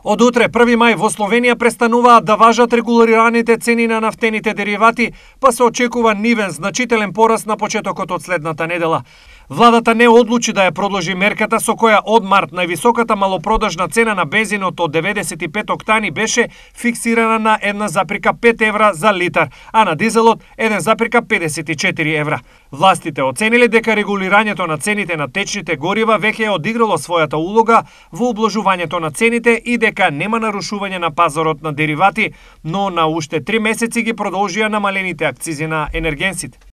Од утре, 1 мај, во Словенија престануваат да важат регулираните цени на нафтените деривати, па се очекува нивен значителен пораст на почетокот од следната недела. Владата не одлучи да ја продолжи мерката со која од март највисоката малопродажна цена на бензинот од 95 октани беше фиксирана на 1,5 евра за литар, а на дизелот 1,54 евра. Властите оцениле дека регулирањето на цените на течните горива веќе е одиграло својата улога во ублажувањето на цените и дека нема нарушување на пазарот на деривати, но на уште 3 месеци ги продолжија намалените акцизи на енергенсите.